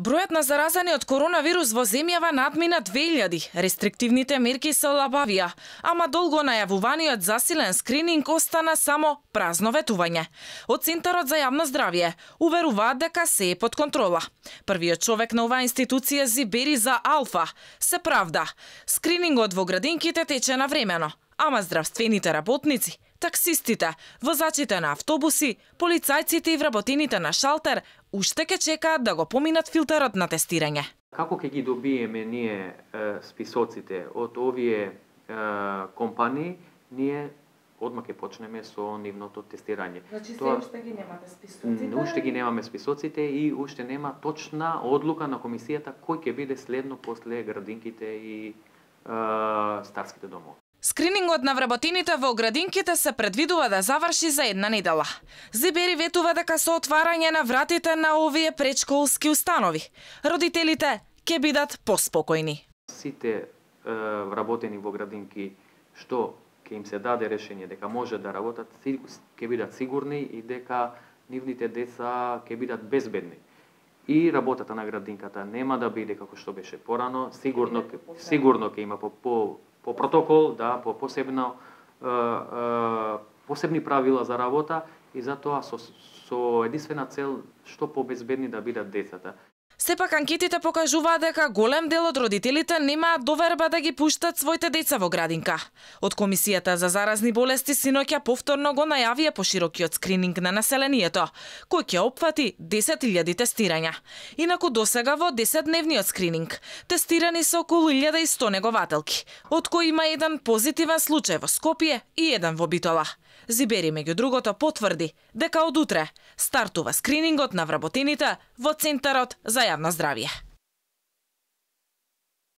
Бројот на заразени од коронавирус во земјава надмина 2000. Рестриктивните мерки се олабавија, ама долго најавуваниот засилен скрининг остана само празно ветување. Од Центарот за јавно здравје уверуваат дека се е под контрола. Првиот човек на оваа институција Зибери за Алфа се правда. Скринингот во градинките тече навремено, ама здравствените работници, таксистите, возачите на автобуси, полицајците и вработените на шалтер уште ке чекаат да го поминат филтерот на тестирање. Како ќе ги добиеме ние списоците од овие компании, ние одма ќе почнеме со нивното тестирање. Значи уште ги немате списоците? Уште ги немаме списоците и уште нема точна одлука на комисијата кој ќе биде следно после градинките и старските домови. Скринингот на вработените во градинките се предвидува да заврши за една недела. Зибери ветува дека со отварање на вратите на овие предшколски установи, родителите ќе бидат поспокојни. Сите вработени во градинки што ќе им се даде решение дека може да работат, ќе бидат сигурни и дека нивните деца ќе бидат безбедни. И работата на градинката нема да биде како што беше порано, сигурно ќе има по протокол, да, по посебни правила за работа и затоа со единствена цел што побезбедни да бидат децата. Сепак анкетите покажуваат дека голем дел од родителите немаат доверба да ги пуштат своите деца во градинка. Од Комисијата за заразни болести синоќа повторно го најавија поширокиот скрининг на населението, кој ќе опфати 10.000 тестирања. Инаку досега во 10-дневниот скрининг тестирани се околу 1100 негователки, од кои има еден позитивен случај во Скопје и еден во Битола. Зибери меѓу другото потврди дека од утре стартува скринингот на вработените во Центарот за јавно здравје.